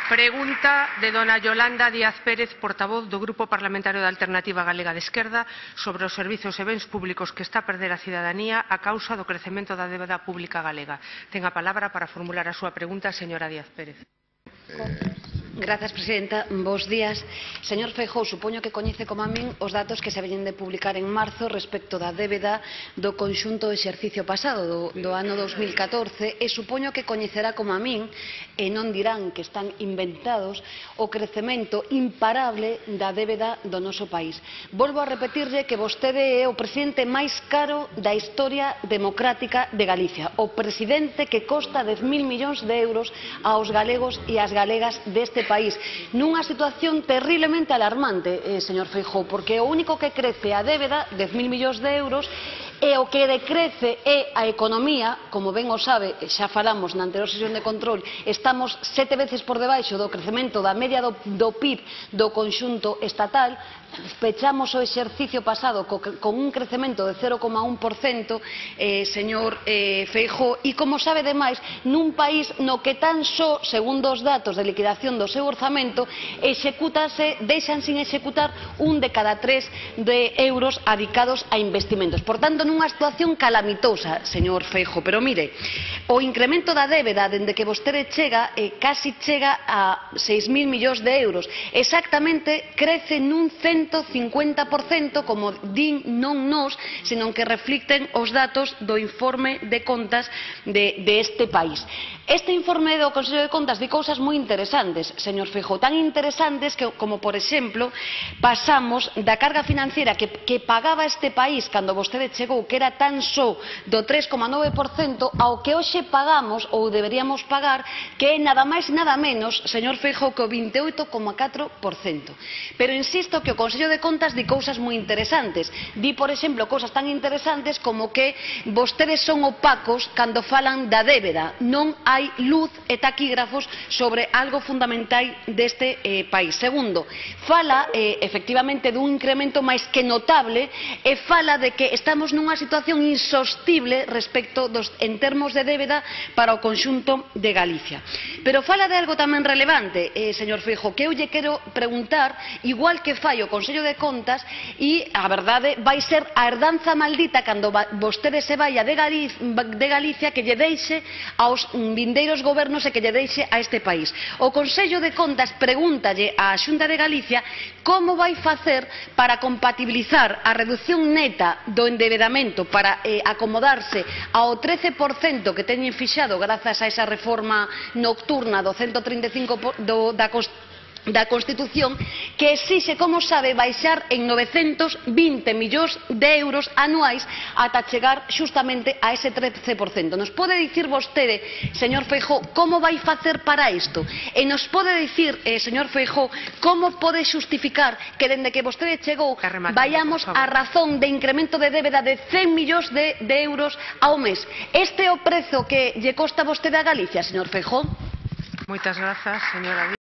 Pregunta de dona Yolanda Díaz Pérez, portavoz do Grupo Parlamentario da Alternativa Galega de Esquerda, sobre os servizos e bens públicos que está a perder a cidadanía a causa do crecemento da débeda pública galega. Ten a palabra para formular a súa pregunta, señora Díaz Pérez. Grazas, presidenta. Bos días. Señor Feijóo, supoño que coñece como a min os datos que se veñen de publicar en marzo respecto da débeda do conxunto do exercicio pasado, do ano 2014, e supoño que coñecerá como a min, e non dirán que están inventados, o crecemento imparable da débeda do noso país. Volvo a repetirlle que vostede é o presidente máis caro da historia democrática de Galicia, o presidente que costa 10.000 millóns de euros aos galegos e ás galegas deste país, nunha situación terriblemente alarmante, señor Feijóo, porque o único que crece a débeda, 10.000 millóns de euros, e o que decrece é a economía, como ben o sabe, xa falamos na anterior sesión de control, estamos 7 veces por debaixo do crecemento da media do PIB do conxunto estatal, pechamos o exercicio pasado con un crecemento de 0,1%, señor Feijóo, e como sabe demais, nun país no que tan só, segundo os datos de liquidación do seu orzamento, deixan sin executar 1 de cada 3 de euros adicados a investimentos. Por tanto, nunha situación calamitosa, señor Feijóo. Pero mire, o incremento da débeda dende que vostede chega, casi chega a 6.000 millóns de euros. Exactamente, crece nun 150%, como din non nós, senón que reflicten os datos do informe de contas deste país. Este informe do Consello de Contas di cousas moi interesantes, señor Feijóo, tan interesantes como, por exemplo, pasamos da carga financiera que pagaba este país cando vostede chegou, que era tan só do 3,9%, ao que hoxe pagamos, ou deberíamos pagar, que é nada máis nada menos, señor Feijóo, que o 28,4%. Pero insisto que o Consello de Contas di cousas moi interesantes. Di, por exemplo, cousas tan interesantes como que vostedes son opacos cando falan da débeda. Non hai luz e taquígrafos sobre algo fundamental deste país. Segundo, fala efectivamente dun incremento máis que notable e fala de que estamos nunha situación insostible respecto en termos de débeda para o conxunto de Galicia. Pero fala de algo tamén relevante, señor Feijóo, que eu lle quero preguntar, igual que fai o Consello de Contas, e a verdade vai ser a herdanza maldita cando vostede se vaia de Galicia, que lle deixe aos vindeiros gobernos e que lle deixe a este país. O Consello de Contas pregúntalle á Xunta de Galicia como vai facer para compatibilizar a reducción neta do endebedamento para acomodarse ao 13% que teñen fixado grazas a esa reforma nocturna do 135 da Constitución, que exixe, como sabe, baixar en 920 millóns de euros anuais ata chegar xustamente a ese 13%. Nos pode dicir vostede, señor Feijóo, como vai facer para isto? E nos pode dicir, señor Feijóo, como pode xustificar que dende que vostede chegou vayamos a razón de incremento de débeda de 100 millóns de euros ao mes? Este é o prezo que lle costa vostede a Galicia, señor Feijóo? Moitas grazas, señora.